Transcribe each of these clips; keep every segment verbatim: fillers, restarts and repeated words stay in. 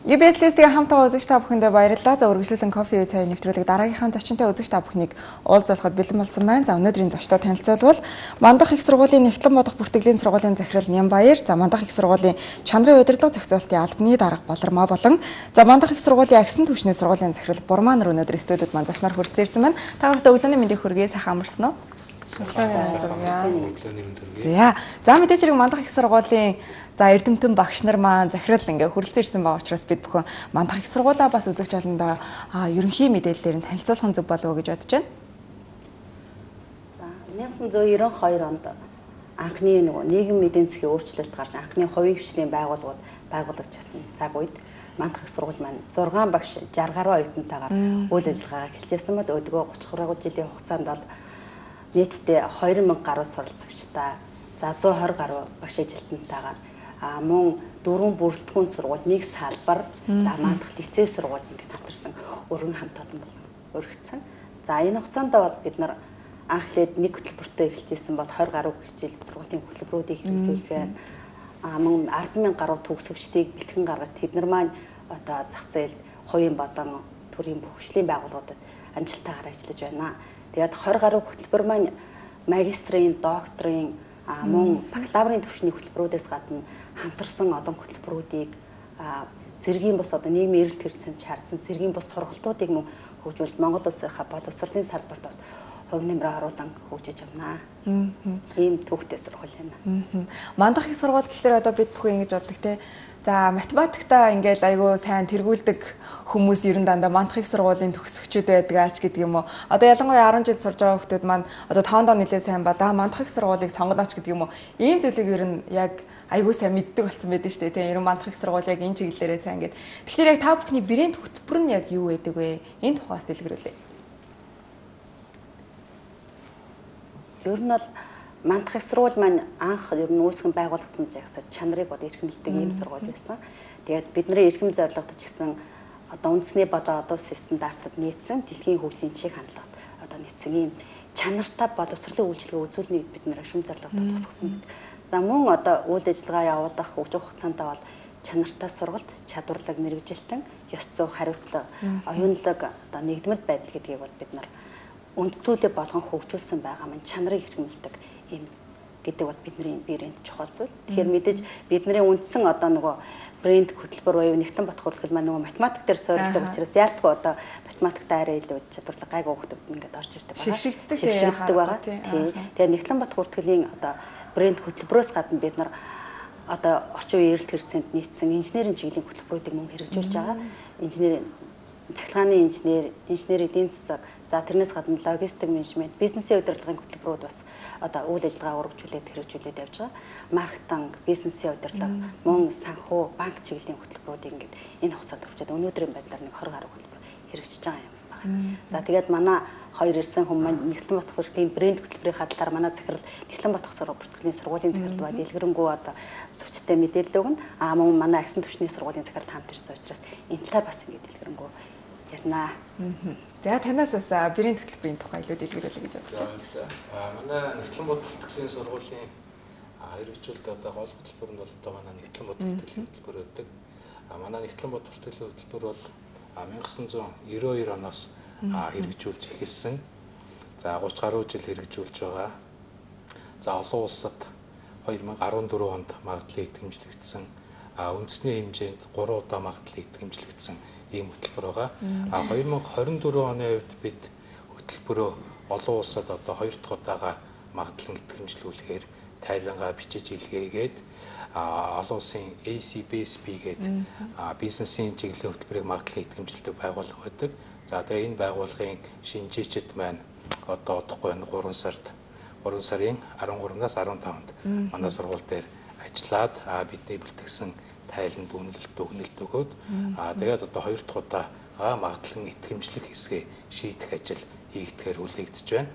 ю би эс-ийн хамтаа үзэгч та бүхэндээ баярлалаа. За үргэлжлүүлэн кофе үе цай нэвтрүүлэг дараагийнхаа зочинтой үзэгч та бүхнийг уулзуулахад бэлэн болсон байна. За өнөөдрийн зочдоо танилцуулбал Мандах их сургуулийн Нэгтлэн бодох бүртгэлийн сургуулийн захирал Нямбаяр, за Мандах их сургуулийн Чанарын удирдлага зохицуулалтын албаны дарга Болормоо болон за Мандах их сургуулийн Агсан түвшний сургуулийн захирал Бурмаа нар өнөөдөр студиуд маань зочноор хүрэлцэн ирсэн байна. Та бүхэнд өглөөний мэндийг хүргэе, сайхан амарсан уу? За, за мэдээж хэрэг Мандах их сургуулийн за эрдэмтэн багш нар маань захирал ингээ хүрэлцэн ирсэн байгаа учраас бид бүхэн Мандах их сургуулаа бас үзэгч олондоо ерөнхий мэдээллээр нь танилцуулах зүг болов уу гэж бодож байна. За найман зуун девяносто хоёр онд анхны нөгөө нийгэм эдийн засгийн өөрчлөлт гарч анхны хувийн хвшлийн байгууллагууд байгуулагдчихсан цаг үед Мандах их сургууль маань зургаан багш шарх гаруй оюутантайгаар үйл ажиллагаагаа эхэлжсэн бол өдгөө гуравч гаруй жилийн хугацаанд бол нийтдээ хоёр мянга гаруй суралцагчтай, за зуун хорь гаруй багш ажилтнантайгаар а мөн дөрвөн бүрэлдэхүүн сургууль, нэг салбар, за Мандах лицей сургууль ингээд хамтарсан өргөн хамт олон болон өргөцсөн. За энэ хугацаанд бол бид нар анхлээд нэг хөтөлбөртөө эхэлжсэн бол хорь гаруй хичээл сургуулийн хөтөлбөрүүдийг хэрэгжүүлж байна. А мөн арван мянга гаруй төгсөгчдийг бэлтгэн гаргаж тэд нар маань одоо зах зээлд хувийн болон төрийн бүх хөгжлийн байгууллагуудад амжилттайгаар ажиллаж байна. Тэгээд хорь гаруй хөтөлбөр маань магистрийн, докторийн, а мөн бакалаврын түвшний хөтөлбөрүүдээс гадна хамтарсан олон хөтөлбөрүүдийг зэргийн бус одоо нийгмийн эрэлт хэрэгцээнд шаардсан зэргийн бус сургалтуудыг мөн хөгжүүлж Монгол улсынхаа боловсролын салбарт бол хувь нэмрээ оруулан хөгжиж явна. Ийм төвхтэй сургууль байна. Мандах их сургууль гэхэлэр одоо бид бүхэн ингэж боддог те. За математиктаа ингээл айгүй сайн тэргүүлдэг хүмүүс ер нь дандаа Мандах их сургуулийн төгсөгчүүд байдаг аач гэдэг юм уу. Одоо ялангуяа арван жил сурж байгаа хүмүүс маань одоо тоондоо нэлээд сайн балаа Мандах их сургуулийг сонгоноч гэдэг юм уу. Ийм зүйлийг ер нь яг айгүй сайн мэддэг болсон байдаг шүү дээ. Тийм ер нь Мандах их сургууль яг энэ чиглэлээрээ сайн гэдэг. Тэгэхээр яг та бүхний брэнд хөтөлбөр нь яг юу байдаг вэ? Энэ тухаас дэлгэрүүлээ. Ер нь бол Мандах их сургууль маань анх ер нь үүсгэн байгуулагдсан жагсаа чанарыг бол эрхэмлдэг ийм сургууль байсан. Тэгээд бидний эрхэм зорилгод ч гэсэн одоо үндэсний болон олон улсын стандартад нийцсэн дэлхийн хөгжлийн жишээг хандлагад одоо нийцсэн ийм чанартай боловсролын үйлчилгээ үзүүлнэ бид нар эрхэм зорилгодод тусгасан. За мөн одоо үйл ажиллагаа явуулах хөгжих хугацаанд бол чанартай сургалт, чадварлаг мэрэгжилтэн, ёс зүй, хариуцлага, оюунлаг одоо нэгдмэл байдал гэдгийг бол бид нар үнд зүйлээ болгон хөгжүүлсэн байгаа маань чанарыг хэрэгжүүлдэг юм гэдэг бол бидний брэнд чухал зүйл. Тэгэхээр мэдээж бидний үндсэн одоо нөгөө брэнд хөтөлбөр буюу Нэгтлэн бодох бүртгэл маань нөгөө математик дээр суурилдаг учраас яалтгүй одоо математиктай арай илүү чадварлаг гайгүй хүмүүс ингээд орж ирдэг байгаа. Шигшигддэг байгаа. Тийм. Тэгээ Нэгтлэн бодох бүртгэлийн одоо брэнд хөтөлбөрөөс гадна бид нар одоо орчин үеийн эрэлт хэрэгцээнд нийцсэн инженерийн чиглэлийн хөтөлбөрүүдийг мөн хэрэгжүүлж байгаа. Инженерийн цахилгааны инженер, инженерийн эдийн засаг, за тэрнээс гадна логистик менежмент, бизнесийн удирдлагын хөтөлбөрүүд бас одоо үйл ажиллагаа өргөжүүлээд хэрэгжүүлээд явж байгаа. Маркетинг, бизнесийн удирдлага, мөн санхүү, банк чиглэлийн хөтөлбөрүүдийг ингээд энэ хугацаанд хүрчээд өнөөдрийн байдлаар нэг двадцать гаруй хөтөлбөр хэрэгжиж байгаа юм байна. За тэгээд манай хоёр ирсэн хүмүүс маань Нэгтлэн бодох бүртгэлийн брэнд хөтөлбөрийн хадлаар манай захирал Нэгтлэн бодох бүртгэлийн сургуулийн захирал ба дэлгэрэнгүй одоо зөвчтэй мэдээлэл өгнө. Аа мөн манай Агсан түвшний сургуулийн захирал хамт ирсэн учраас энэ талаар бас ингээд дэлгэрэнгүй ярина. За танаас бас брэнд хөтөлбөрийн тухай илүү дэлгэрүүлээ гэж бодож байна. Аа манай Нэгтлэн бодох бүртгэлийн сургуулийн хэрэгжүүлэлт одоо гол хөтөлбөр нь бол одоо манай Нэгтлэн бодох бүртгэлийн хөтөлбөр байдаг. Аа манай Нэгтлэн бодох бүртгэлийн хөтөлбөр бол 천аа зан девяносто хоёр оноос хэрэгжүүлж эхэлсэн. За гуравч гаруй жил хэрэгжүүлж байгаа. За олон улсад хоёр мянга арван дөрөв онд магадлал идэвхжлэгдсэн. А үндэсний хэмжээнд гурван удаа магадлал идэвхжлэгдсэн ийм хөтөлбөр байгаа. А хоёр мянга хорин дөрөв оны үед бид хөтөлбөрөө олон улсад одоо хоёр дахь удаага магадлал идэвхжлүүлэхээр тайлангаа бичиж илгээгээд а олон улсын A C B S P гэдэг бизнесийн чиглэлийн хөтөлбөрийг магадлал идэвхжүүлдэг байгууллага байдаг. За тэгээ энэ байгууллагын шинжээчид маань одоо одохгүй гурван сард гурван сарын арван гуравнаас арван таванд манай сургууль дээр ажиллаад бидний бэлтгэсэн тайланд бүнэлт дүгнэлт өгөөд аа тэгээд одоо хоёр дахь удаа магадлан итгэмжлэх хэсгээ шийдэх ажил хийгдэхээр хүлээгдэж байна.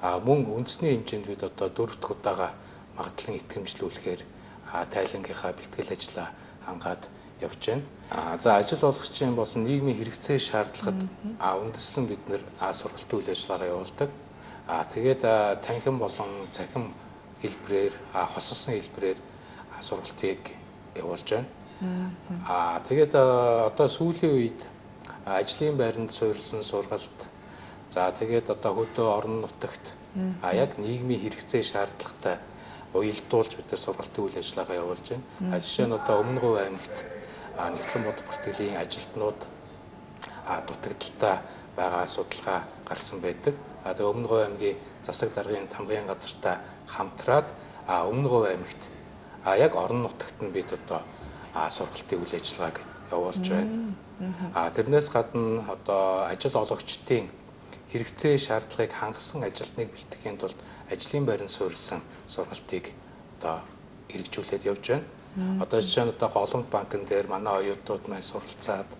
Аа мөн үндэсний хэмжээнд бид одоо дөрөв дахь удаага магадлан итгэмжлүүлэхээр тайлангийнхаа бэлтгэл ажлаа хангаад явж байна. А за ажил олгогчийн болон нийгмийн хэрэгцээ шаардлагад үндэслэн бид нэр сургалтын үйл ажиллагаа явуулдаг. А тэгээд танхим болон цахим хэлбэрээр хосолсон хэлбэрээр сургалтыг явуулж байна. Аа тэгээд одоо сүүлийн үед ажлын байранд суурилсан сургалт. За тэгээд одоо хөдөө орон нутагт а яг нийгмийн хэрэгцээ шаардлагатай уялдуулж бид нар сургалтын үйл ажиллагаа явуулж байна. А жишээ нь одоо Өмнө Говь аймагт нэгтлэн бод бүртгэлийн ажилтнууд а дутагдaltaа байгаа судалгаа гарсан байдаг. А тэгээд Өмнө Говь аймгийн засаг даргын тамгын газартаа хамтраад а Өмнө Говь аймагт а яг орон нутагт нь бид одоо а сургалтын үйл ажиллагааг явуулж байна. А тэрнээс гадна одоо ажил олгогчдын хэрэгцээ шаардлагыг хангасан ажилтныг бэлтгэхийн тулд ажлын байранд суурилсан сургалтыг одоо хэрэгжүүлээд явж байна. Одоо жишээ нь одоо Голомт банкн дээр манай оюутнууд маань суралцаад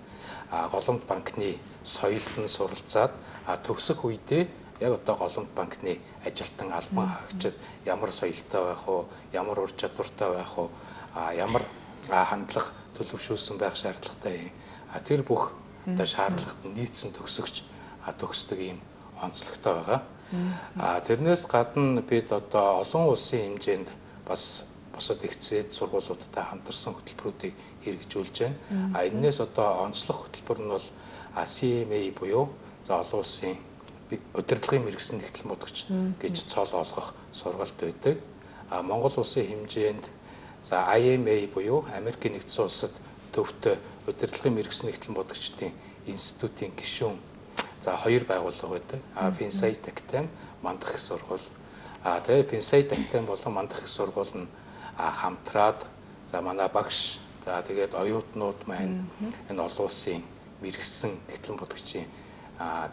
а Голомт банкны соёлд нь суралцаад а төгсөх үедээ яг одоо Голомт банкны ажилтан албан хаагчид ямар соёлтой байх уу, ямар ур чадвартай байх уу, а ямар хандлага төлөвшүүлсэн байх шаардлагатай. А тэр бүх одоо шаардлагад нийцсэн төгсөгч а төгсдөг ийм онцлогтой байгаа. А тэрнээс гадна бид одоо олон улсын хэмжээнд бас бусад их зээд сургуулиудтай хамтарсан хөтөлбөрүүдийг хэрэгжүүлж байна. А энэс одоо онцлог хөтөлбөр нь бол си эм эй буюу за олон улсын удирдлагын мэргэжсэн нэгтлэн бодогч гэж цол олгох сургалт байдаг. А Монгол улсын хэмжээнд за ай эм эй буюу Америкийн нэгдсэн улсад төвтэй удирдлагын мэргэжсэн нэгтлэн бодогчдын институтын гишүүн за хоёр байгууллага байдаг. А Финсайт Актем, Мандах их сургууль. А тэгээд Финсайт Актем болон Мандах их сургууль нь хамтраад за манай багш за тэгээд оюутнууд маань энэ олон улсын мэргэжсэн нэгтлэн бодогчийн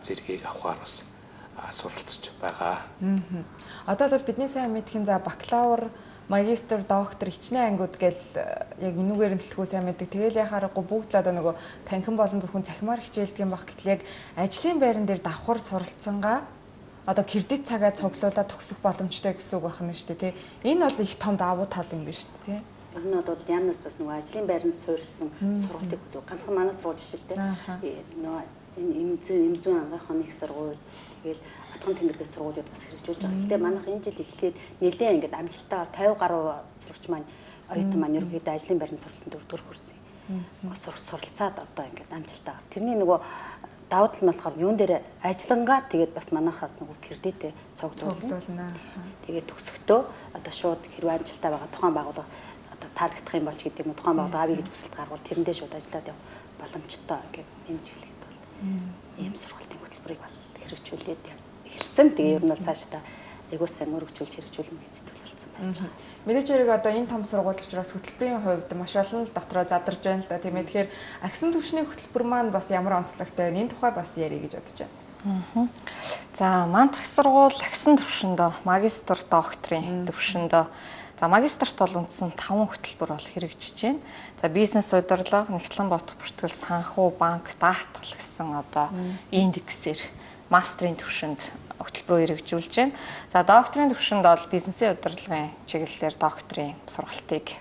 зэргийг авахар бас суралцж байгаа. Одоо бол бидний сайн мэдхийн за бакалавр, магистр, доктор, хичнээн ангууд гэл яг энүүгээр нь төлхөө сайн мэддэг. Тэгэл яхаарахгүй бүгд л одоо нөгөө танхим болон зөвхөн цахимаар хичээлдэг юм баг гэтэл яг ажлын байран дээр давхар суралцсангаа одоо кредит цагаа цуглуулад төгсөх боломжтой гэсэн үг байна шүү дээ, тий. Энэ бол их том давуу тал юм биш үү, тий. Тэр нь бол яамнаас бас нөгөө ажлын байранд суурилсан сургалтыг хөтөв. Ганцхан манай сургууль биш л дээ. Нөгөө энэ эмзэн ангийнхны их сургууль тэгэл Отгон Тэнгэргийн сургуулиуд бас хэрэгжүүлж байгаа. Гэхдээ манайх энэ жил эхлээд нэлээд ингээд амжилттайгаар пঞ্চাশ гаруй сурагч маань оюутан маань ерөнхийдөө ажлын байранд суралтанд дөрөвдүгээр хүрсэн. Сурах суралцаад одоо ингээд амжилттайгаар. Тэрний нөгөө давуу тал нь болохоор юун дээр ажиллангаа тэгээд бас манайхаас нөгөө кредитээ цуглуулна. Тэгээд төгсөхдөө одоо шууд хэрвээ амжилттай байгаа тухайн байгууллага одоо таалагдах юм болж гэдэг юм тухайн байгууллага авъя гэж хүсэлт гаргавал тэрэндээ шууд ажиллаад явах боломжтой ингээд нэмж хэлэхэд бол ийм сургалтын хөтөлбөрийг бол хэрэгжүүлээд эхэлсэн. Тэгээ ер нь бол цаашдаа айгуу сайн өргөжүүлж хэрэгжүүлнэ гэж төлөвлөсөн байж байгаа. Мэдээж хэрэг одоо энэ том сургууль учраас хөтөлбөрийн хувьд маш олон л дотроо задарж байна л да. Тийм ээ. Тэгэхээр агсан түвшний хөтөлбөр маань бас ямар онцлогтой вэ? Энэ тухай бас ярих гэж бодож байна. За Мандах их сургууль агсан түвшиндөө магистр, докторийн түвшиндөө за магистрт бол үндсэн таван хөтөлбөр бол хэрэгжиж байна. За бизнес удирдлага, нэгтлэн бот бүртгэл, санхүү, банк, даатгал гэсэн одоо индексээр мастрын түвшинд хөтөлбөрөөр хэрэгжүүлж байна. За докторийн түвшинд бол бизнесийн удирдлагын чиглэлээр докторийн сургалтыг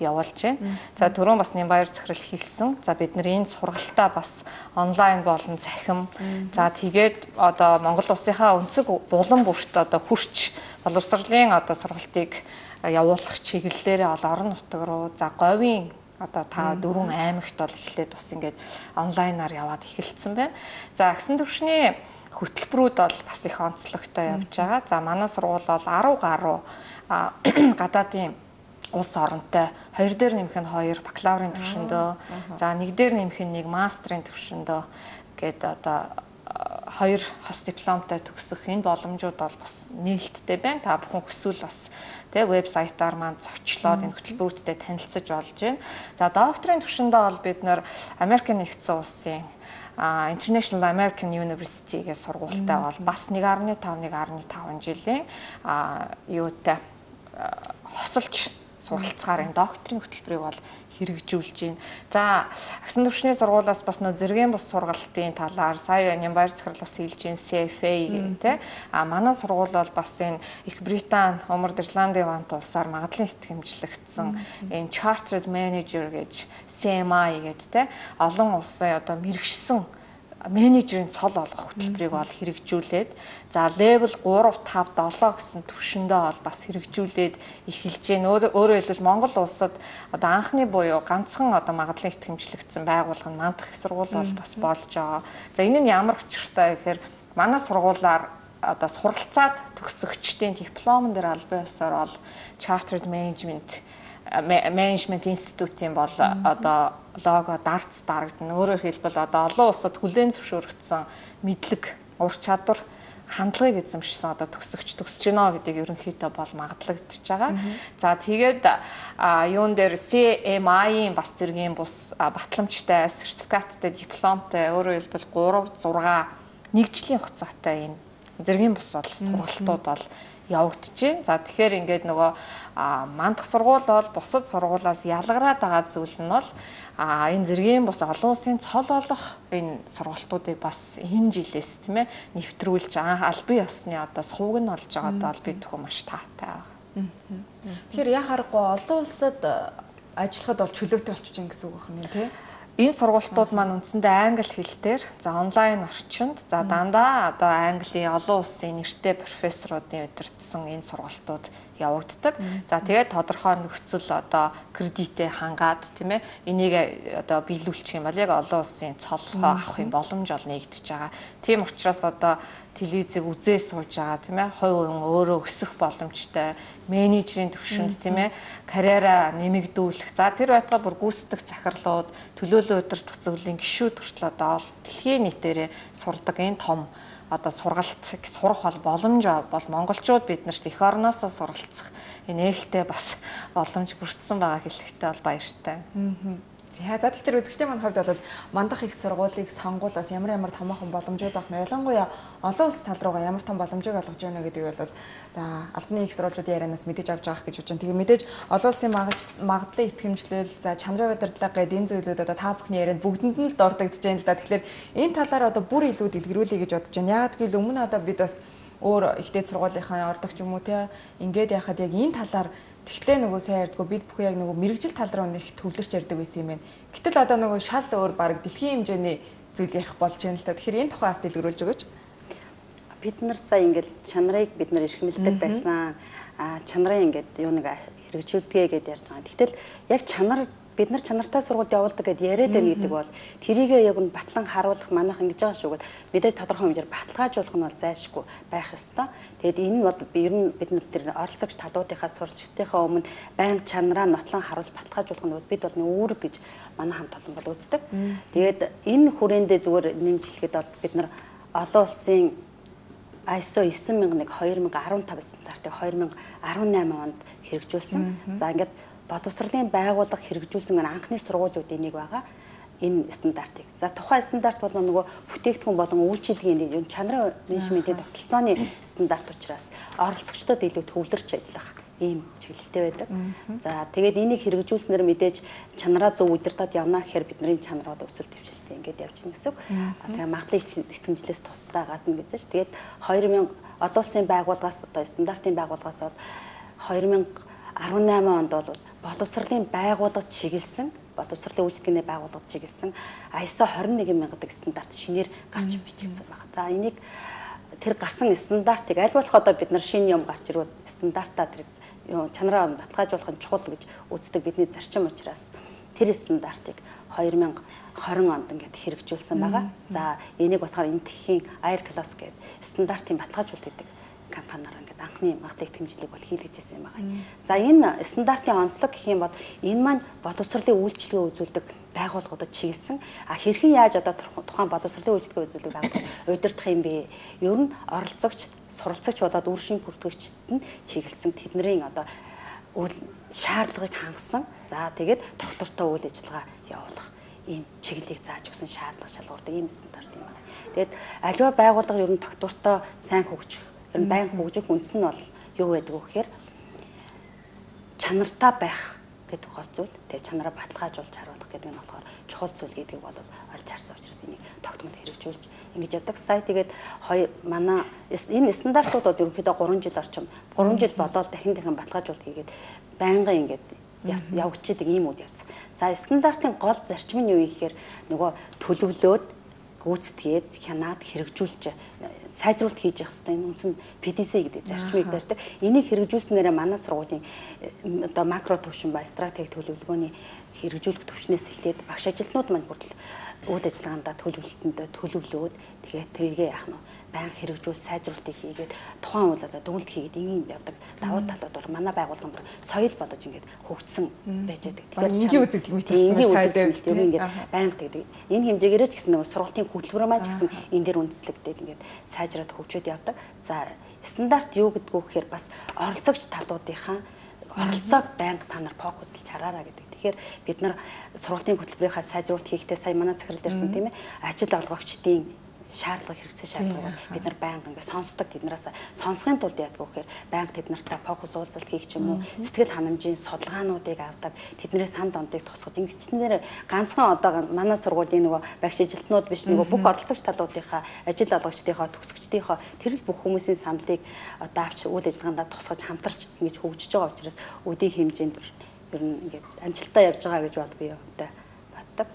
явуулж байна. За түрүүн бас Нямбаяр захирал хэлсэн. За бид нар энэ сургалтаа бас онлайн болон цахим. За тэгээд одоо Монгол улсынхаа өнцөг булан бүрт одоо хүрч боловсролын одоо сургалтыг явуулах чиглэлээрээ бол орон нутаг руу за говийн одоо та дөрвөн аймагт бол эхлээд бас ингээд онлайнаар яваад эхэлсэн байна. За агсан түвшний хөтөлбөрүүд бол бас их онцлогтой явж байгаа. За манай сургууль бол арав гаруй гадаадын улс оронтой хоёр дээр нэмэх нь хоёр бакалаврын түвшиндөө за нэг дээр нэмэх нь нэг мастрын түвшиндөө гээд одоо хоёр хос дипломтой төгсөх энэ боломжууд бол бас нээлттэй байна. Та бүхэн хүсвэл бас тэг вебсайтаар маань зочлоод энэ хөтөлбөрүүдтэй танилцаж болж байна. За докторийн түвшиндээ бол бид нэр Америкийн нэгдсэн улсын International American University гэх сургуультай бол бас нэг гаруй тавь нэг гаруй таван жилийн юутай хосолж суралцгаар энэ докторийн хөтөлбөрийг бол хэрэгжүүлж байна. За агсан түвшний сургуулиас бас нөө зэргийн бус сургалтын талаар сая Нямбаяр захирал бас хэлж байна си эф эй гэдэг. А манай сургууль бол бас энэ Их Британи, Умард Ирландын вант улсаар магадлалын итгэмжлэгдсэн энэ Chartered Manager гэж си эм ай гэдэг те олон улсын одоо мэрэгшсэн менежерийн цол олгох хөтөлбөрийг бол хэрэгжүүлээд за левел три, five, seven гэсэн түвшиндээ бол бас хэрэгжүүлээд эхэлж байна. Өөрөөр хэлбэл Монгол улсад одоо анхны буюу ганцхан одоо магадлалын итгэмжлэгдсэн байгууллага нь мандах их сургууль бол бас болж байгаа. За энэ нь ямар учиртай гэхээр манай сургуулиар одоо суралцаад төгсөгчдийн дипломн дээр албан ёсоор бол Chartered Management Management Institute-ийн бол одоо лого дарц дарагдана. Өөрөөр хэлбэл одоо олон улсад хүлээн зөвшөөрөгдсөн мэдлэг, ур чадвар, хандлагыг эзэмшсэн одоо төгсөгч төгсөж гинэ гэдэг ерөнхийдөө бол магадлагдчихж байгаа. За тэгээд юун дээр C M I-ийн бас зэргийн бус батламжтай, сертификаттай, дипломтой өөрөөр хэлбэл three, six нэг жилийн хугацаатай энэ зэргийн бус бол сургалтууд бол явагдчихээн. За тэгэхээр ингээд нөгөө мандах сургууль бол бусад сургуулиас ялгараад байгаа зүйл нь бол энэ зэргийн бус олон улсын цол олох энэ сургалтуудыг бас энэ жилээс тийм ээ нэвтрүүлж албан ёсны одоо сувг нь болж байгаадаа бол бид төхөө маш таатай байгаа. Тэгэхээр яа харахгүй олон улсад ажиллахад бол чөлөөтэй болчихж байгаа гэсэн үг байна тийм ээ. Энэ сургалтууд маань үндсэндээ англи хэл дээр за онлайн орчинд за дандаа одоо Английн олон улсын нэртэй профессоруудын удирдсан энэ сургалтууд явагддаг. За тэгээд тодорхой нөхцөл одоо кредитээ хангаад тийм ээ энийг одоо биелүүлчих юм бол яг олон улсын цоллогоо авахын боломж ол нэгдэж байгаа. Тийм учраас одоо телевизийг үзээ сууж байгаа тийм ээ хувь хүн өөрөө өсөх боломжтой менежерийн төвшөнд тийм ээ карьераа нэмэгдүүлэх за тэр байтугай бүр гүйцэтгэх захирлууд төлөөлөл удирдах зөвлөлийн гишүүд хүртэл одоо дэлхийн нийтээрээ сурдаг энэ том одоо сургалт сурах бол боломж бол монголчууд биднэрт эх орноосоо суралцах энэ нээлттэй бас боломж бүрдсэн байгаа хэлэхтэй бол баяртай. За за тэгэхээр үзэгчдийн маань хувьд бол мандах их сургуулийг сонгуулаас ямар ямар томоохон боломжууд авах нь ялангуяа олон улс тал руугаа ямар том боломжийг олгож байна гэдэг бол за албаны их сургуулиудын ярианаас мэдээж авч байгаа гэж бодож байна. Тэгээ мэдээж олон улсын магадлалын итгэмжлэл за чанарын удирдлага гэдэг энэ зүйлүүд одоо та бүхний ярианд бүгдэнд нь л дурддагдж байна л да. Тэгэхээр энэ талаар одоо бүр илүү дэлгэрүүлэе гэж бодож байна. Яагаад гэвэл өмнө одоо бид бас өөр ихтэй сургуулийнхаа ордог ч юм уу те ингээд яхад яг энэ талаар тэгтлээ нөгөө сайн ярьдгөө бид бүхэн яг нөгөө мэрэгжил тал руу нэг төвлөрч ярьдаг байсан юм байна. Гэтэл одоо нөгөө шал өөр баг дэлхийн хэмжээний зүйл ярих болж байна л та. Тэгэхээр энэ тухайас дэлгэрүүлж өгөөч. Бид нар сая ингээд чанарыг бид нар эрхмэлдэг байсан. А чанарын ингээд юу нэг хэрэгжүүлдэгэ гэдээ ярьж байгаа. Тэгтэл яг чанар бид нар чанартай сургуульд явуулдаг гэдээ яриад байна гэдэг бол тэрийгээ яг нь батлан харуулах манайх ингэж байгаа шүү гэд мэдээж тодорхой хэмжээр баталгаажуулах нь бол зайлшгүй байх ёстой. Тэгэд энэ бол ер нь бид нар тэр оролцогч талуудынхаа сурчдынхаа өмнө байнга чанараа нотлон харуулж баталгаажуулах нь бид бол үүрэг гэж манай хамт олон бол үздэг. Тэгээд энэ хүрээндээ зүгээр нэмжлэхэд бол бид нар олон улсын I S O nine thousand one two thousand fifteen стандартыг two thousand eighteen онд хэрэгжүүлсэн. За ингээд боловсролын байгууллага хэрэгжүүлсэн анхны сургуулиудын нэг байгаа энэ стандартыг. За тухайн стандарт бол нөгөө бүтээгдэхүүн болон үйлчилгээний чанарын менежментийн тогтолцооны стандарт учраас оролцогчдод илүү төвлөрч ажиллах ийм чиглэлтэй байдаг. За тэгээд энийг хэрэгжүүлснээр мэдээж чанараа зөв удирдах явна гэхээр бидний чанар бол өсөлт дэвшилттэй ингээд явж байна гэсэн үг. Тэгээд магадлалын итгэмжлээс тусдаа гадна гэж байна. Тэгээд two thousand олон улсын байгууллагаас одоо стандартын байгууллагаас бол two thousand eighteen онд бол боловсролын байгууллага чиглэсэн боловсролын үйлчлэгээний байгууллагад чиглэсэн I S O twenty-one thousand гэдэг стандарт шинээр гарч бичигдсэн байна. За энийг тэр гарсан стандартыг аль болох одоо бид нар шинэ юм гарч ирвэл стандартаа тэр чанараа баталгаажуулах нь чухал гэж үздэг бидний зарчим учраас тэр стандартыг two thousand twenty онд ингээд хэрэгжүүлсэн байгаа. За энийг болохоор энтхийн Air Class гэдэг стандартын баталгаажуулалт гэдэг компаниар ингээд анхны магадлалын итгэмжлэлийг бол хийлгэж ирсэн юм байгаа. За энэ стандартын онцлог гэх юм бол энэ маань боловсролын үйлчилгээ үзүүлдэг байгууллагуудад чиглэсэн. А хэрхэн яаж одоо тухайн боловсролын үйлчилгээ үзүүлдэг байгууллага удирдах юм бэ? Ер нь оролцогч, суралцагч болоод үр шим бүртгэгчд нь чиглэсэн тэдний одоо үйл шаардлагыг хангасан. За тэгээд доктортой үйл ажиллагаа явуулах ийм чиглэлийг зааж өгсөн шаардлага шалгуурдаг ийм стандарт юм байна. Тэгээд аливаа байгууллага ер нь доктортой сайн хөгжих ер нь байн хөгжих үндэс нь бол юу байдаг вэ гэхээр чанартай байх гэдэг гол зүйл. Тэгээд чанараа баталгаажуулж харуулах гэдэг нь болохоор чухал зүйл гэдгийг бол олж харсан учраас энийг тогтмол хэрэгжүүлж ингэж явдаг. Сая тэгээд манай энэ стандартууд бол ерөнхийдөө three жил орчим three жил болоод дахин дахин баталгаажуулалт хийгээд байнгын ингэж явагдчихдаг ийм үйл явц. За стандартын гол зарчим нь юу вэ гэхээр нөгөө төлөвлөөд гүйцэтгээд хянаад хэрэгжүүлж сайжруулалт хийж явах хэрэгтэй. Энэ үндсэн пи ди си гэдэг зарчмыг барьдаг. Энийг хэрэгжүүлснээр манай сургуулийн одоо макро төвшин ба стратеги төлөвлөгөөний хэрэгжүүлэх төвчнээс эхлээд багш ажилтнууд маань хүртэл үйл ажиллагаандаа төлөвлөлтөндөө төлөвлөөд тэгээд тэрийгээ яах нь байнга хэрэгжүүл сайжруулалтыг хийгээд тухайн үйл ажиллагаа дүгнэлт хийгээд ингийн явдаг. Давуу талууд бол манай байгууллага бүр соёл болж ингээд хөгжсөн байж байдаг. Тэгэхээр энгийн үзэгдэл мэдээлсэн маш таатай тийм ингээд байнга тэгдэг. Энэ хэмжээгээр ч гэсэн нөгөө сургалтын хөтөлбөр маань ч гэсэн энэ дээр үндэслэгдээд ингээд сайжраад хөгжөөд явдаг. За стандарт юу гэдгүү гэхээр бас оролцогч талуудынхаа оролцоог байнга та нар фокуслж хараараа гэдэг. Тэгэхээр бид нар сургалтын хөтөлбөрийнхаа сайжруулалт хийхдээ сая манай захирал ярьсан тийм ээ ажил олгогчдын шаардлага хэрэгцээ шаардлагыг бид нар байнга ингээд сонсдог. Тэднээс сонсохын тулд яадаг вэ гэхээр байнга тэд нартай фокус уулзалт хийх ч юм уу сэтгэл ханамжийн судалгаануудыг авдаг. Тэднээс сан дондыг тусгаж ингэчнээр ганцхан одоо манай сургуулийн нөгөө багш ажилтнууд биш нөгөө бүх оролцогч талуудынхаа ажил олгогчдынхаа төгсөгчдийнхаа тэр л бүх хүмүүсийн саналыг одоо авч үйл ажиллагаанд тусгаж хамтарч ингэж хөгжиж байгаа учраас үдийн хэмжээнд ер нь ингээд амжилттай явж байгаа гэж бол би өвдөө боддог.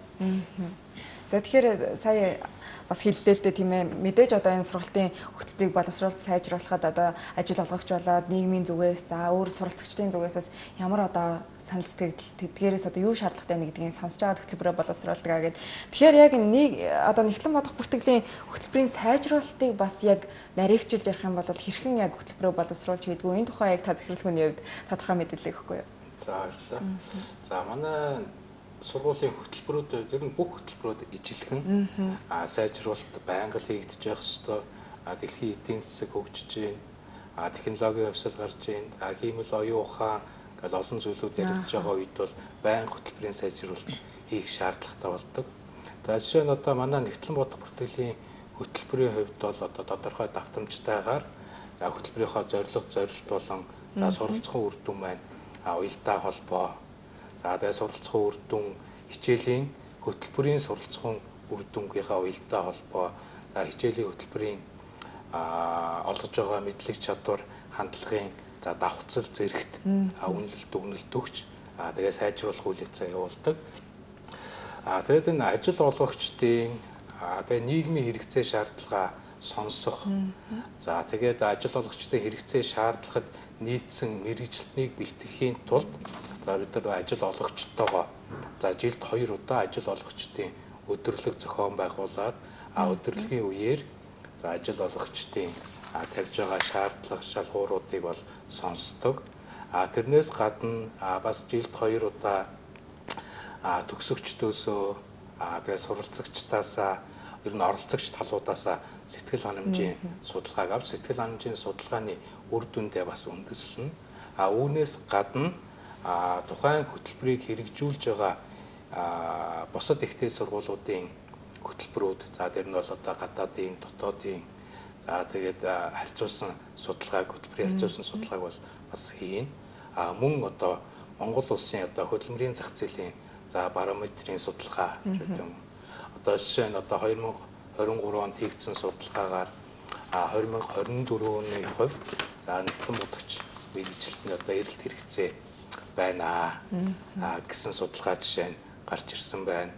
За тэгэхээр сая бас хэллээ л дээ тийм ээ мэдээж одоо энэ сургалтын хөтөлбөрийг боловсруулалт сайжруулахад одоо ажил олгогч болоод нийгмийн зүгээс за өөр суралцагчдын зүгээсээс ямар одоо санал сэтгэл тэдгээрээс одоо юу шаардлагатай нэг гэдгийг сонсож байгаа хөтөлбөрөө боловсруулдаг аа гэд. Тэгэхээр яг нэг одоо нэгтлэн бодох бүртгэлийн хөтөлбөрийн сайжруулалтыг бас яг наривчилж ярих юм бол хэрхэн яг хөтөлбөрөө боловсруулж хийдгүү энэ тухай яг та захирлахууны хувьд тодорхой мэдээлэл өгөхгүй юу? За баярлалаа. За манай сургуулийн хөтөлбөрүүд ер нь бүх хөтөлбөрүүд ижилхэн а сайжруулалт байнга хийгдэж явах ёстой. А дэлхийн эдийн засаг хөгжиж байна. А технологийн хувьсэл гарч байна. А хиймэл оюун ухаан гэл олон зүйлүүд яригдж байгаа үед бол байнга хөтөлбөрийн сайжруулалт хийх шаардлагатай болдог. За жишээ нь одоо манай нэгтлэн бодох бүртгэлийн хөтөлбөрийн хувьд бол одоо тодорхой давтамжтайгаар за хөтөлбөрийнхөө зорилго зорилт болон за суралцсан үр дүн маань а уялдаа холбоо. За тэгээ суралцсан үр дүн хичээлийн хөтөлбөрийн суралцсан үр дүнгийнхаа уялдаа холбоо. За хичээлийн хөтөлбөрийн а олгож байгаа мэдлэг чадвар, хандлагын за давхцал зэрэгт а үнэлэлт дүгнэлт өгч а тэгээ сайжруулах үйл ажиллагаа явуулдаг. А тэгээд энэ ажил олгогчдын а тэгээ нийгмийн хэрэгцээ шаардлага сонсох. За тэгээд ажил олгогчдын хэрэгцээ шаардлагад нийцсэн мэргэжилтнийг бэлтгэхийн тулд за бид нар ажил олгогчтойгоо за жилд хоёр удаа ажил олгогчдын өдөрлөг зохион байгуулад а өдөрлөгийн үеэр за ажил олгогчдын а тавьж байгаа шаардлага шалгууруудыг бол сонсдог. А тэрнээс гадна а бас жилд хоёр удаа а төгсөгчдөөсөө а тэгээ суралцагчдаасаа ер нь оролцогч талуудаасаа сэтгэл ханамжийн судалгааг авч сэтгэл ханамжийн судалгааны үр дүндээ бас үндэслэнэ. А үүнээс гадна а тухайн хөтөлбөрийг хэрэгжүүлж байгаа а бусад ихтэй сургуулиудын хөтөлбөрүүд за тэр нь бол одоо гадаадын дотоодын за тэгээд харьцуулсан судалгааг хөтөлбөрийн харьцуулсан судалгааг бол бас хийн. А мөн одоо Монгол улсын одоо хөдөлмөрийн зах зээлийн за барометрийн судалгаа гэдэг юм. Одоо жишээ нь одоо хоёр мянга хорин гурав онд хийгдсэн судалгаагаар а хоёр мянга хорин дөрөв оны хувьд за нэгтлэн бодогч мэргэжилтний одоо эрэлт хэрэгцээ байна а гэсэн судалгаа жишээ нь гарч ирсэн байна.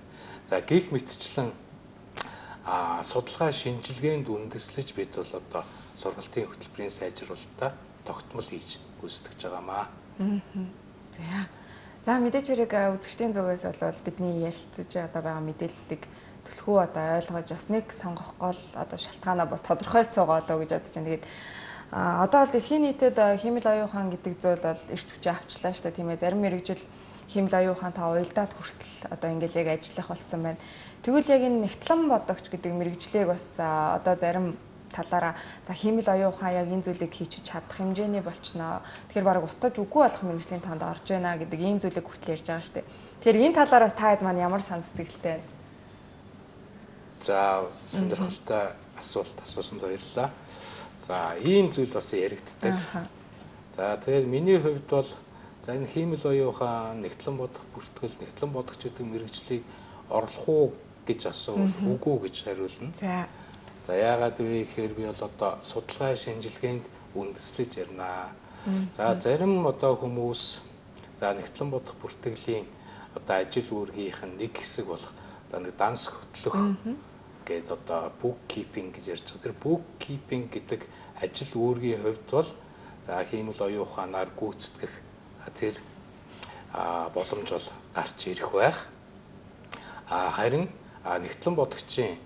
За гих мэтчлэн а судалгаа шинжилгээнд үндэслэж бид бол одоо сургалтын хөтөлбөрийн сайжруулалтаа тогтмол хийж гүйцэтгэж байгаамаа. За. За мэдээж хэрэг үзэгчдийн зүгээс бол бидний ярилцаж одоо байгаа мэдээллийг төлхөө одоо ойлгож бас нэг сонгох гол одоо шалтгаанаа бас тодорхойлж суугаалаа гэж бодож байна. Тэгээд а одоо бол дэлхийн нийтэд химэл оюун ухаан гэдэг зүйл бол эрт хүчээ авчлаа шүү дээ тийм ээ. Зарим мэргэжил химэл оюун ухаан та уялдаад хүртэл одоо ингээл яг ажиллах болсон байна. Тэгвэл яг энэ нэгтлэн бодогч гэдэг мэргэжлийг бас одоо зарим талаараа за химэл оюун ухаан яг энэ зүйлийг хийж чадах хэмжээний болчихноо. Тэгэхээр баг устдаж үгүй болох мэргэжлийн тоонд орж байна гэдэг ийм зүйлийг хүртэл ярьж байгаа шүү дээ. Тэгэхээр энэ талаараас та хэд маань ямар санал сэтгэлтэй байна? За сонирхолтой асуулт асуусанд баярлалаа. За ийм зүйл бас яригддаг. За тэгээд миний хувьд бол за энэ химэл оюун ухаан нэгтлэн бодох бүртгэл нэгтлэн бодогч гэдэг мэргэжлийг орлох уу гэж асуувал үгүй гэж хариулна. За За яагаад вэ гэхээр би бол одоо судалгаа шинжилгээнд үндэслэж ярина. За зарим одоо хүмүүс за нэгтлэн бодох бүртгэлийн одоо ажил үүргийнх нь нэг хэсэг болох одоо нэг данс хөтлөх гээд одоо bookkeeping гэж ярьж байгаа. Тэр bookkeeping гэдэг ажил үүргийн хувьд бол за хиймэл оюун ухаанаар гүйцэтгэх тэр боломж бол гарч ирэх байх. Харин нэгтлэн бодогчийн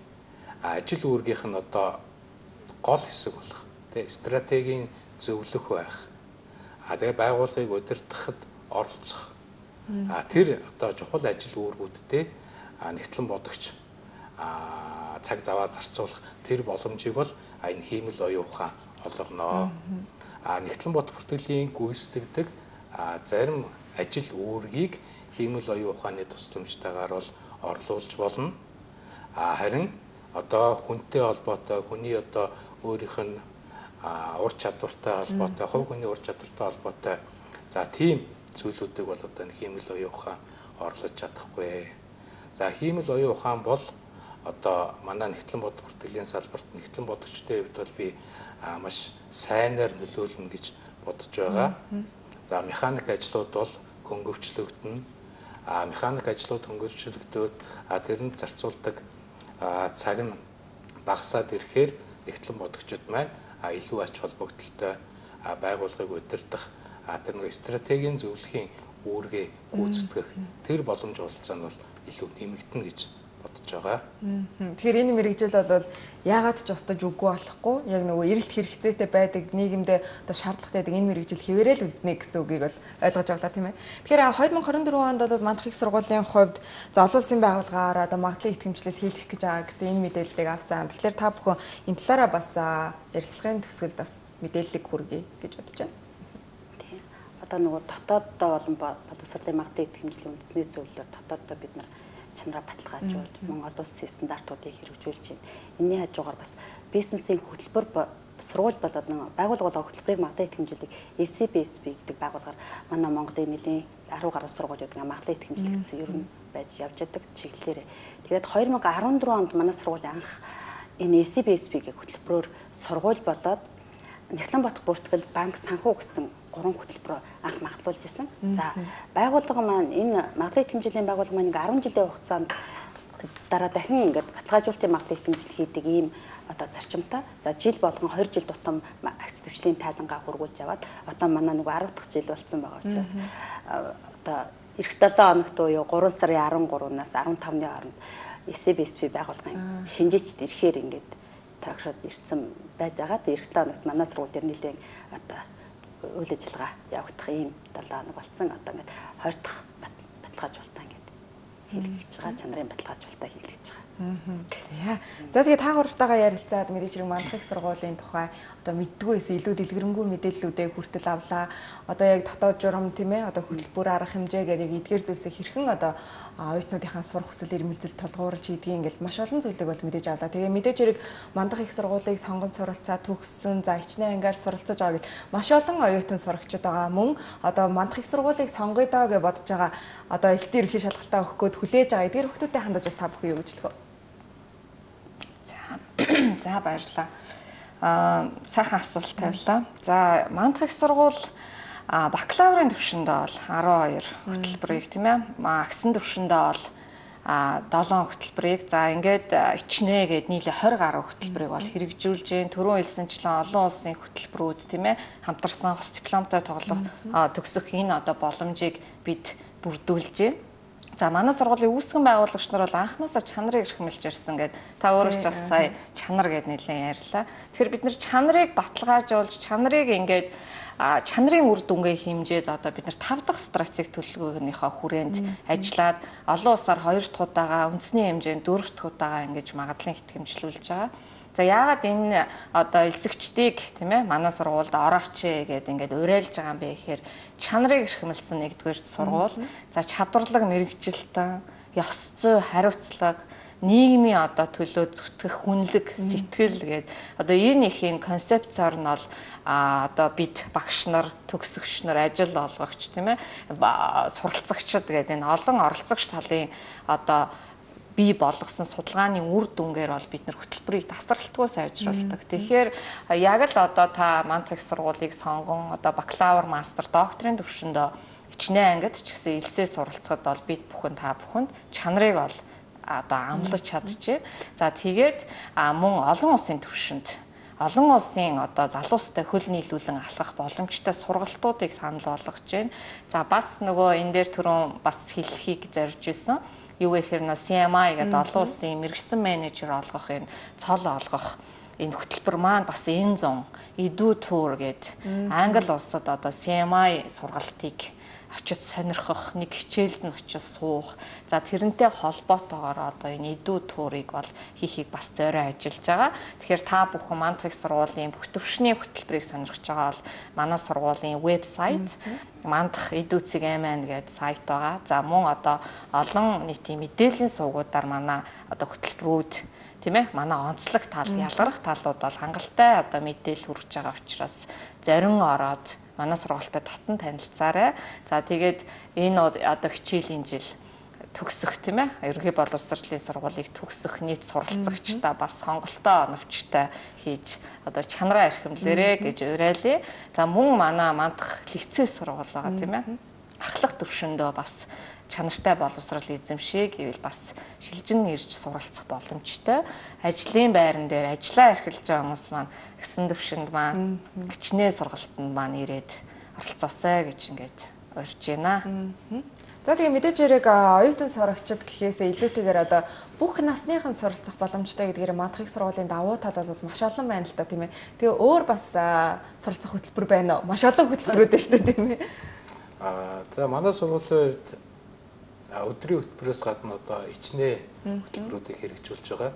ажил үүргийнх нь одоо гол хэсэг болох тий стратегийн зөвлөх байх. А тэгээ байгууллагыг удирдахад оролцох. А тэр одоо чухал ажил үүргүүдтэй нэгтлэн бодогч а цаг заваа зарцуулах тэр боломжийг бол энэ хиймэл оюун ухаан олгоно. А нэгтлэн бод бүртгэлийн гүйцэтгэдэг зарим ажил үүргийг хиймэл оюун ухааны тусламжтайгаар бол орлуулж болно. А харин одоо хүнтэй холбоотой хүний одоо өөрийнх нь ур чадвартай холбоотой, хувь хүний ур чадвартай холбоотой за тийм зүйлүүдийг бол одоо хиймэл оюун ухаан орлож чадахгүй. За хиймэл оюун ухаан бол одоо манай нэгтлэн бод бүртгэлийн салбарт нэгтлэн бодогчтой хувьд бол би маш сайнаар нөлөөлнө гэж бодож байгаа. За механик ажлууд бол хөнгөвчлөгдөнө. А механик ажлууд хөнгөвчлөгдөөд тэрэнд зарцуулдаг цаг нь багасаад ирэхээр нэгтлэн бодогчид маань илүү ач холбогдолтой байгууллагыг удирдах тэр нэг стратегийн зөвлөхийн үүргээ гүйцэтгэх тэр боломж олцоо нь бол илүү нэмэгдэнэ гэж бодож байгаа. Тэгэхээр энэ мэрэгжил бол яагаад ч устдаж үгүй болохгүй яг нөгөө эрэлт хэрэгцээтэй байдаг нийгэмдээ одоо шаардлагатай байдаг энэ мэрэгжил хэвээрээ л үлднэ гэсэн үгийг бол ойлгож авлаа тийм ээ. Тэгэхээр хоёр мың хорин дөрвөн онд бол мандах их сургуулийн хувьд за олон улсын байгууллагаар одоо магадлалын итгэмжлэл хийх гэж байгаа гэсэн энэ мэдээллийг авсан. Тэгэхээр та бүхэн энэ талаараа бас ярилцлагын төсгөлд бас мэдээллийг хүргэе гэж бодож байна. Тийм. Одоо нөгөө дотооддоо болон боловсролын магадлалын итгэмжлэлийн үндэсний зөвлөлөөр дотооддоо бид нар чанараа баталгаажуулж Монгол улсын стандартуудыг хэрэгжүүлж байна. Энийний хажуугаар бас бизнесийн хөтөлбөр сургууль болоод нэг байгууллага болоо хөтөлбөрийн магадлалын итгэмжлэлийг эл си би эс би гэдэг байгууллагаар манай Монголын нэлийн арван гаруй сургуулиуд ингээ магадлалын итгэмжлэл гэсэн ер нь байж явж байгаа чиглэлээр. Тэгээд хоёр мың арван дөрвөн онд манай сургууль анх энэ эл си би эс би гэх хөтөлбөрөөр сургууль болоод Нэгтлэн бодох бүртгэл банк санхүү гэсэн гурван хөтөлбөрөөр анх магадлуулж исэн. За байгууллага маань энэ магадлалын итгэмжлэлийн байгууллага маань арван жилийн хугацаанд дараа дахин ингээд баталгаажуулалтын магадлалын итгэмжлэл хийдэг ийм одоо зарчимтай. За жил болгон хоёр жил тутам акцентвчлийн тайлангаа хургуулж яваад одоо манай нэг арав дахь жил болсон байгаа учраас одоо эх долоон хоногт уу гурван сарын арван гуравнаас арван тавны хооронд эл си би эс би байгууллагын шинжээчд ирэхээр ингээд тагшаад ирсэн байж байгаа. Эх долоон хоногт манай сургууль дээр нэлээд одоо үйл ажиллагаа явагдах ийм долоо хоног болсон. Одоо ингээд хоёр дахь баталгаажуулалтаа ингээд хийлгэж байгаа. Чанарын баталгаажуулалтаа хийлгэж байгаа. Аа. За тэгээ та гуравтайгаа ярилцаад мэдээж хэрэг мандах их сургуулийн тухай одоо мэддгүйс илүү дэлгэрэнгүй мэдээллүүдээ хүртэл авлаа. Одоо яг дотоод журам тийм ээ одоо хөтөлбөр арга хэмжээ гэдэг эдгээр зүйлсээ хэрхэн одоо оюутнуудынхаа сурах хүсэл эрмэлзэл тулгуурлаж хийдгийг ингээл маш олон зүйлийг бол мэдээж авлаа. Тэгээ мэдээж хэрэг мандах их сургуулийг сонгон суралцаа төгссөн за хичнээн ангаар суралцаж байгаа гэд маш олон оюутан сурагчид байгаа. Мөн одоо мандах их сургуулийг сонгоё доо гэж бодож байгаа одоо элтийн ерхий шалгалтаа өгөх гээд хүлээж байгаа. Эдгээр хүмүүстээ хандаж бас та бүхэн юу гэж хэлэх вэ? За за баярлалаа. Аа сайхан асуулт тавилаа. За мандах их сургууль бакалаврын төвшөндөө бол арван хоёр хөтөлбөрийг тийм ээ. Агсан төвшөндөө бол долоон хөтөлбөрийг за ингээд ичнэ гээд нийлээ хорь гаруй хөтөлбөрийг бол хэрэгжүүлж гээ. Түрүүн хэлсэнчлэн олон улсын хөтөлбөрүүд тийм ээ хамтарсан хос дипломтой тоглох төгсөх энэ одоо боломжийг бид бүрдүүлж гээ. За манай сургуулийн үүсгэн байгуулагч нар бол анхнаасаа чанарыг эрхэмлж ирсэн гэдэг та өөрөө ч бас сая чанар гэд нэлээд ярьлаа. Тэгэхээр бид нар чанарыг баталгаажуулж чанарыг ингээд чанарын үр дүнгээ хэмжээд одоо бид нар тав дахь стратеги төлөвлөгөөнийхөө хүрээнд ажиллаад олон улсаар хоёр дахь удаага үндэсний хэмжээнд дөрөв дахь удаага ингэж магадлалын итгэмжлүүлж байгаа. За яагаад энэ одоо элсэгчдийг тийм ээ манай сургуульд орооч гэдэг ингээд уриалж байгаа юм бэ гэхээр чанарыг эрхэмлсэн нэгдүгээр сургууль. За чадварлаг мэрэгжилтэн, ёс зүй, хариуцлага, нийгмийн одоо төлөө зүтгэх хүнлэг, сэтгэл гэдэг одоо энэ ихийн концепцоор нь бол а одоо бид багш нар, төгсөгч нар, ажил олгогч тийм ээ суралцагчид гэдэг энэ олон оролцогч талын одоо бий болгосон судалгааны үр дүнгээр бол бид нар хөтөлбөрийг тасралтгүй сайжруулдаг. Тэгэхээр яг л одоо та мандах их сургуулийг сонгон одоо бакалавр, мастер, докторийн төвшөндөө хичнээн ангид ч гэсэн элсээ суралцахад бол бид бүхэн та бүхэнд чанарыг бол одоо амлаж чадчихэв. За тэгээд мөн олон улсын түвшинд олон улсын одоо залуустай хөл нийлүүлэн алхах боломжтой сургалтуудыг санал болгож байна. За бас нөгөө энэ дээр түрүүн бас хэлхийг зорж исэн. Юу гэхээр нөө си эм ай гэдэг олон улсын мэргэжсэн менежер олгох энэ цол олгох энэ хөтөлбөр маань бас энэ зун Edu Tour гэдэг Англи улсад одоо си эм ай сургалтыг очиж сонирхох, нэг хичээлд нь очиж суух. За тэрнтэй холбоотойгоор одоо энэ Edu Tour-ыг бол хийхийг бас зорио ажиллаж байгаа. Тэгэхээр та бүхэн Мантрих сургуулийн бүх төвшний хөтөлбөрийг сонирхож байгаа бол манай сургуулийн вебсайт Мантрих Edu.mn гэдэг сайт байгаа. За мөн одоо олон нийтийн мэдээллийн сувгуудаар манай одоо хөтөлбөрүүд тийм ээ манай онцлог тал, ялгарх талууд бол хангалттай одоо мэдээлэл хүргэж байгаа учраас зорин ороод манай сургуультай татан танилцаарай. За тэгээд энэ одоо хичээлийн жил төгсөх тийм ээ ерөнхий боловсролын сургуулийг төгсөх нийт суралцагчдаа бас хонголтой оновчтой хийж одоо чанараа эрхэмлээрэ гэж уриалъя. За мөн манай мандах лицей сургууль байгаа тийм ээ ахлах төвшөндөө бас чанартай боловсрол эзэмшээ гэвэл бас шилжин ирж суралцах боломжтой. Ажлын байран дээр ажиллаа эрхэлж байгаа хүмүүс маань гэсэн төвшөнд маань гिचнээ сургалтанд маань ирээд оролцоосай гэж ингээд урьж байна. За тэгээ мэдээж хэрэг оюутан сурагчид гэхээсээ илүүтэйгээр одоо бүх насныхан суралцах боломжтой гэдгээр Мантрих сургуулийн давуу тал бол маш олон байна л да тийм ээ. Тэгээ өөр бас суралцах хөтөлбөр байна уу? Маш олон хөтөлбөрүүд байна шүү дээ тийм ээ. Аа за манай сургуулийн хувьд өдрийн хөтөлбөрөөс гадна одоо ичнээ хөтөлбөрүүдийг хэрэгжүүлж байгаа.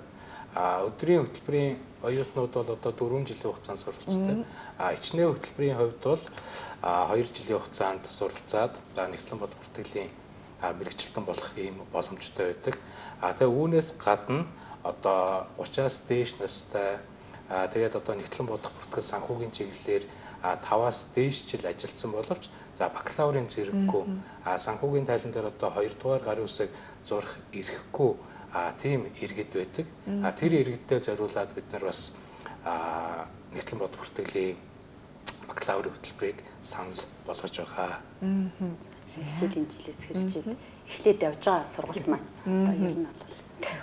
А өдрийн хөтөлбөрийн оюутнууд бол одоо дөрвөн жилийн хугацаанд суралцдаг. А ичнээ хөтөлбөрийн хувьд бол хоёр жилийн хугацаанд суралцаад нэгтлэн бод бүртгэлийн мэрэгчлэн болох ийм боломжтой байдаг. А тэгээ үүнээс гадна одоо учраас дээш настай тэгээд одоо нэгтлэн бодох бүртгэл санхүүгийн чиглэлээр таваас дээш жил ажилласан боловч за бакалаврын зэрэггүй а санхүүгийн тайлан дээр одоо хоёр дугаар гарын үсэг зурх ирэхгүй а тийм иргэд байдаг. А тэр иргэдэд зориулаад бид нар бас а нэгтлэн бод бүртгэлийн бакалаврын хөтөлбөрийг санал болгож байгаа. Сүүлийн жилээс хэрэгжээд эхлээд явж байгаа сургалт маань одоо ер нь бол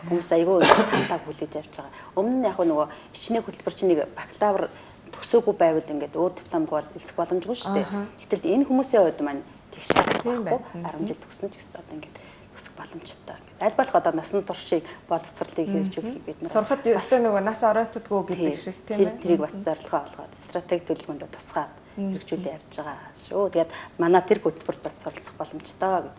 хүмүүс айгүй тантаа хүлээж авч байгаа. Өмнө нь яг нөгөө ичнээ хөтөлбөр чинь нэг бакалавр төгсөөгүй байвал ингээд өөр дипломгүй бол элсэх боломжгүй шүү дээ. Гэтэл энэ хүмүүсийн хувьд маань тэгш байхгүй арван жил төгсөн ч гэсэн одоо ингээд өсөх боломжтой. Аль болох одоо насан туршийг боловсролыг хэрэгжүүлэхийг бид нар сурахад өсөө нөгөө нас оройтдгүй гэдэг шиг тийм ээ. Тэрийг бас зорилгоо олгоод стратеги төлөвлөгөөнд тусгаад хэрэгжүүлээ явж байгаа шүү. Тэгээд манай тэр хөтөлбөрт бас суралцах боломжтой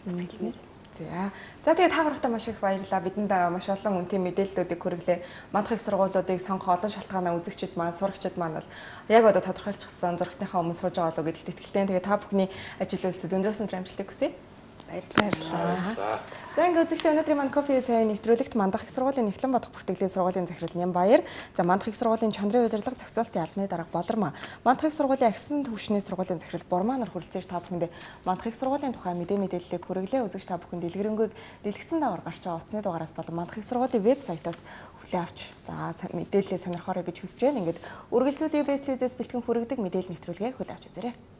гэж хэлмээр. За. За тэгээд та бүхэнд маш их баярлалаа. Бидэнд маш олон үнэтэй мэдээллүүдийг хүргэлээ. Мантрих сургуулиудыг сонгох олон шалтгаанаа үзэгчид маань, сурагчид маань бол яг одоо тодорхойлчихсан зургатныхаа өмнө сууж байгаа болов уу гэдэгт итгэлтэй. Тэгээд та бүхний ажил үйлсэд өндрөөс өндөр амжилтыг хүсье. Баярлалаа. За ингээд үзэгчдээ өнөөдрийн манд кофе цайны нэвтрүүлэгт Мандах их сургуулийн Нэгтлэн бодох бүртгэлийн сургуулийн захирал Нямбаяр, за Мандах их сургуулийн чандрын удирдлага зохицуултын албаны дарга Болормаа, Мандах их сургуулийн агсан төвшний сургуулийн захирал Бурмаа нар хүрэлцээж та бүхэндээ Мандах их сургуулийн тухай мэдээ мэдээллийг хүргэлээ. Үзэгч та бүхэн дэлгэрэнгүй дэлгэцэн давар гарч байгаа утасны дугаараас болон Мандах их сургуулийн вебсайтаас хүлээн авч за мэдээлэлээ сонирхоорой гэж хүсэж байна. Ингээд үргэлжлүүл ю би эс телевизээс бэлтгэн хүргэдэг мэдээлэл нэвтрүүлгээ хүлээн авч үзээрэй.